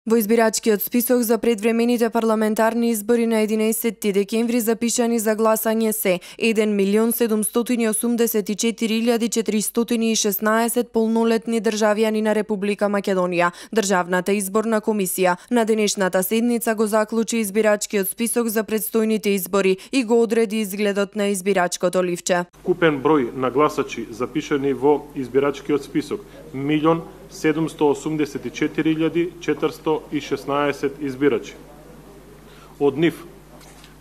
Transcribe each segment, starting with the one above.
Во избирачкиот список за предвремените парламентарни избори на 11 декември запишани за гласање се 1.784.416 полнолетни државјани на Република Македонија. Државната изборна комисија на денешната седница го заклучи избирачкиот список за предстојните избори и го одреди изгледот на избирачкото ливче. Купен број на гласачи запишани во избирачкиот список 1.784.416 избирачи. Од нив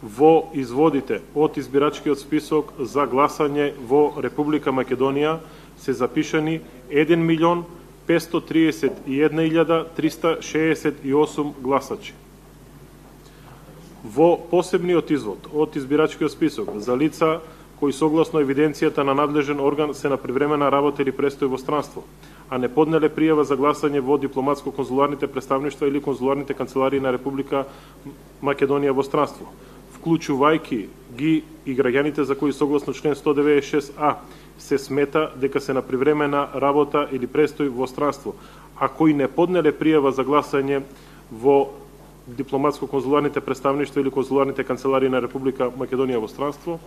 во изводите од избирачкиот список за гласање во Република Македонија се запишани 1.531.368 гласачи. Во посебниот извод од избирачкиот список за лица кои согласно евиденцијата на надлежен орган се на привремена работа или престој во странство, а не поднеле пријава за гласање во дипломатско-конзуларните представништва или конзуларните канцеларии на Република Македонија во странство, вклучувајќи ги и граѓаните за кои согласно член 196а се смета дека се на привремена работа или престој во странство, а кои не поднеле пријава за гласање во дипломатско-конзуларните представништва или конзуларните канцеларии на Република Македонија во странство,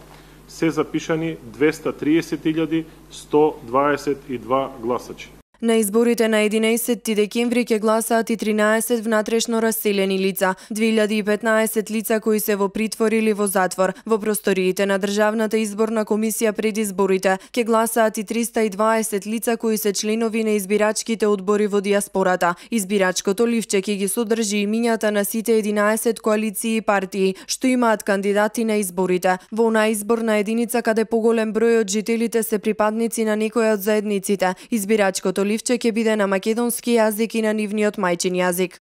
се запишани 230.122 гласачи. На изборите на 11 декември ќе гласаат и 13 внатрешно раселени лица, 2015 лица кои се во притвор или во затвор. Во просториите на Државната изборна комисија пред изборите ќе гласаат и 320 лица кои се членови на избирачките одбори во диаспората. Избирачкото ливче ќе ги содржи имињата на сите 11 коалиции и партии што имаат кандидати на изборите. Во онаа изборна единица каде поголем број од жителите се припадници на некоја од заедниците, избирачкото ливче ќе биде на македонски јазик и на нивниот мајчин јазик.